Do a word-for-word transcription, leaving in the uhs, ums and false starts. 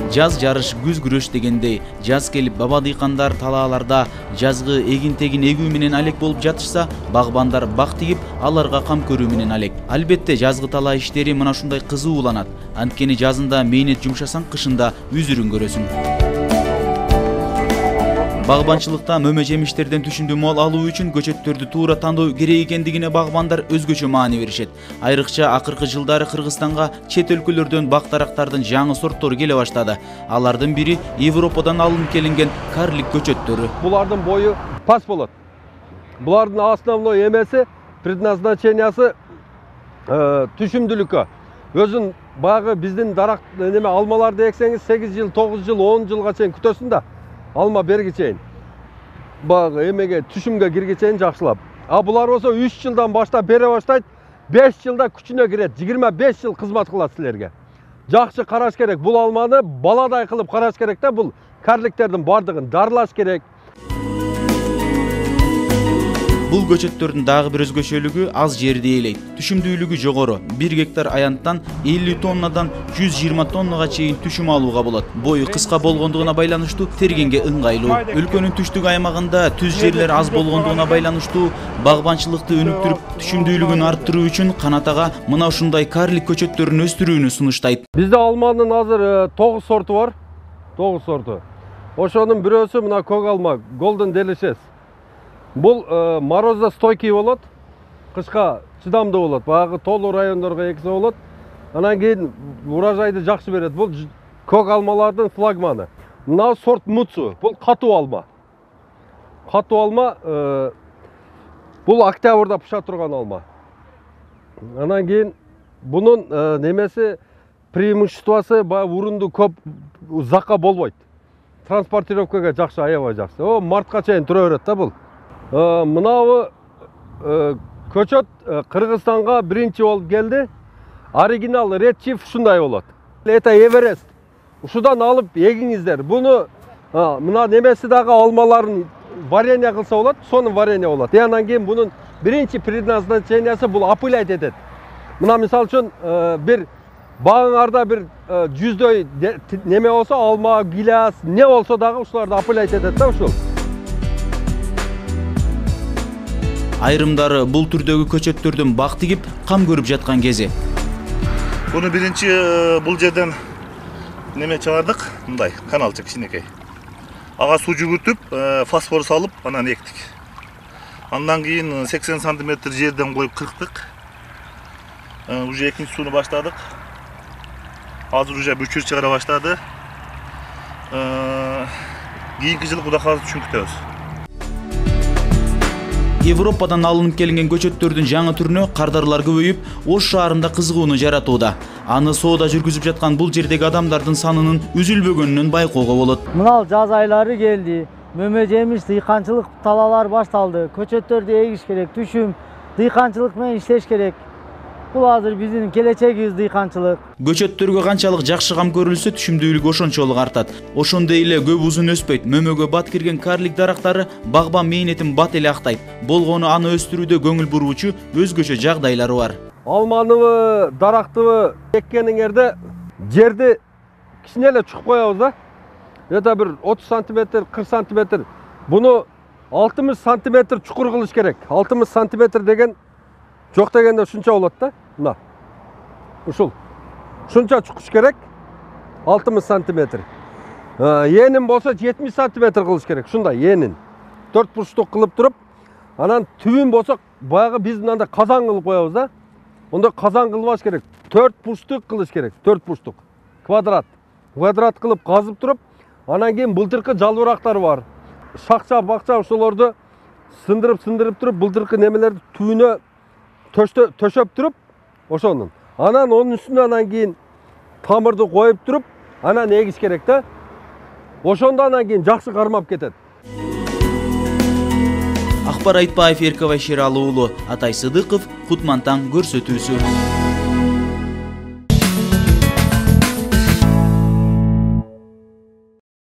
Жаз жарыш, күз күрөш дегендей, жаз келип баба дыйкандар талааларда жазгы эгин-тегин эгүү менен алек болуп жатышса, багбандар бак тигип, аларга кам көрүү менен алек. Албетте, жазгы талаа иштери мына ушундай кызууланат. Анткени жазында мээнет жумшасаң, кышында үзүрүн көрөсүң. Багбанчылыкта мөмө жемиштерден түшүмдүү мол алуу үчүн көчөттөрдү туура тандоо керек экендигине багбандар өзгөчө маани беришет. Айрыкча акыркы жылдары Кыргызстанга чет өлкөлөрдөн бак-дарактардын жаңы сорттору келе баштады. Алардын бири Европадан алынып келинген карлик көчөттөрү. Булардын бою пас болот. Булардын основной эмеси, предназначениясы түшүмдүүлүккө. Өзүн багы биздин дарак неме алмаларды эксеңиз сегиз жыл, тогуз жыл, он жылга чейин күтөсүң да. Алма берги чейин. Багы эмеге түшүмгө кирге чейин жакшылап. А булар болсо үч жылдан баштап бере баштайт, беш жылда күчүнө кирет, жыйырма беш жыл кызмат кылат силерге. Жакшы караш керек. Бул алманы баладай кылып караш керек да, бул карликтердин бардыгын дарылаш керек. Бул көчөттөрдүн дагы бир өзгөчөлүгү аз жерди ээлейт. Түшүмдүүлүгү жогору. бир гектар аянттан элүү тоннадан жүз жыйырма тоннага чейин түшүм алууга болот. Бою кыска болгондугуна байланыштуу тергенге ыңгайлуу. Өлкөнүн түштүк аймагында түз жерлер аз болгондугуна байланыштуу багбанчылыкты өнүктүрүп, түшүмдүүлүгүн арттыруу үчүн Канат ага мына ушундай карлик көчөттөрүн өстүрүүнү сунуштайт. Бизде алманын азыр тогуз сорту бар. тогуз сорту. Ошонун бирөөсү мына көк алма, Golden Delicious. Бул морозостойкий болот, кышка чыдамдуу болот. Багы тоолуу райондорго эксе болот. Анан кийин урожайды жакшы берет. Бул көк алмалардын флагманы. Мына сорт Муцу. Бул катуу алма. Катуу алма бул октябрда пыша турган алма. Анан кийин бунун немеси преимуществосы баягы урунду көп узакка болбойт. Транспортировкага жакшы, аябай жакшы. О, мартка чейин тура берет да бул. Мынабы көчөт Кыргызстанга биринчи болуп келди. Оригинал Red Chief ушундай болот. Это Эверест. Ушудан алып эгиңиздер. Буну мына немеси дагы алмаларын варенье кылса болот, сонун варенье болот. И анан кийин бунун биринчи предназначениясы бул опылять этет. Мына мисалы үчүн бир багыңарда бир жүздөй неме болсо, алма, гиляс, не болсо дагы ушуларды опылять этет да ушул. Айрымдары бул түрдөгү көчөттөрдүн бак тигип, кам көрүп жаткан кези. Буну биринчи бул жерден неме чыгардык, мындай каналчы кичинекей. Ага суу жүгүртүп, фосфор салып, анан эктик. Андан кийин сексен сантиметр жерден коюп кырктык. Уже экинчи сууну баштадык. Азыр уже бүчүр чыгара баштады. Кийинки жылы Кудай кааласа түшүм күтөбүз. Европадан алынып келинген көчөттөрдүн жаңы түрүнө кардарлар көбөйүп, Ош шаарында кызыгууну жаратууда. Аны соода жүргүзүп жаткан бул жердеги адамдардын санынын үзүлбөгөнүнөн байкоого болот. Мына жаз айлары келди. Мөмө жемиш, дыйканчылык талаалар башталды. Көчөттөрдү эгиш керек, түшүм, дыйканчылык менен иштеш керек. Бул азыр биздин келечегибиз дыйканчылык. Көчөттөргө канчалык жакшы кам көрүлсө, түшүмдүүлүгү ошончолук артат. Ошондой эле көп узун өспөйт. Мөмөгө бат кирген карлик дарактары багбан мээнетин бат эле актайт. Болгону аны өстүрүүдө көңүл буруучу өзгөчө жагдайлары бар. Алманыбы, дарактыбы эккениңерде жерди кичине эле чукуп коебуз да. Это бир отуз сантиметр, кырк сантиметр. Буну алтымыш сантиметр чукур кылыш керек. алтымыш сантиметр деген жок дегенде ушунча болот да. Мына. Ушул. Ушунча чукуш керек. алтымыш сантиметр. Энин болсо жетимиш сантиметр кылыш керек. Ушундай энин. төрт бурчтук кылып туруп, анан түбүн болсо баягы биз мындай казан кылып коебуз да. Онда казан кылбаш керек. төрт бурчтук кылыш керек. төрт бурчтук. Квадрат. Квадрат кылып казып туруп, анан кийин былтыркы жалбырактар бар. Шакча, бакча ошолорду сындырып-сындырып туруп, былтыркы немелерди түбүнө төшөп туруп, ошонун. Анан онун үстүнө анан кийин тамырды коюп туруп, анан эгиш керек да. Ошондо анан кийин жакшы кармап кетет. Акбар Айтбаев, Эркебай Шералы уулу, Атай Сыдыков, Кутман таң көрсөтүүсү.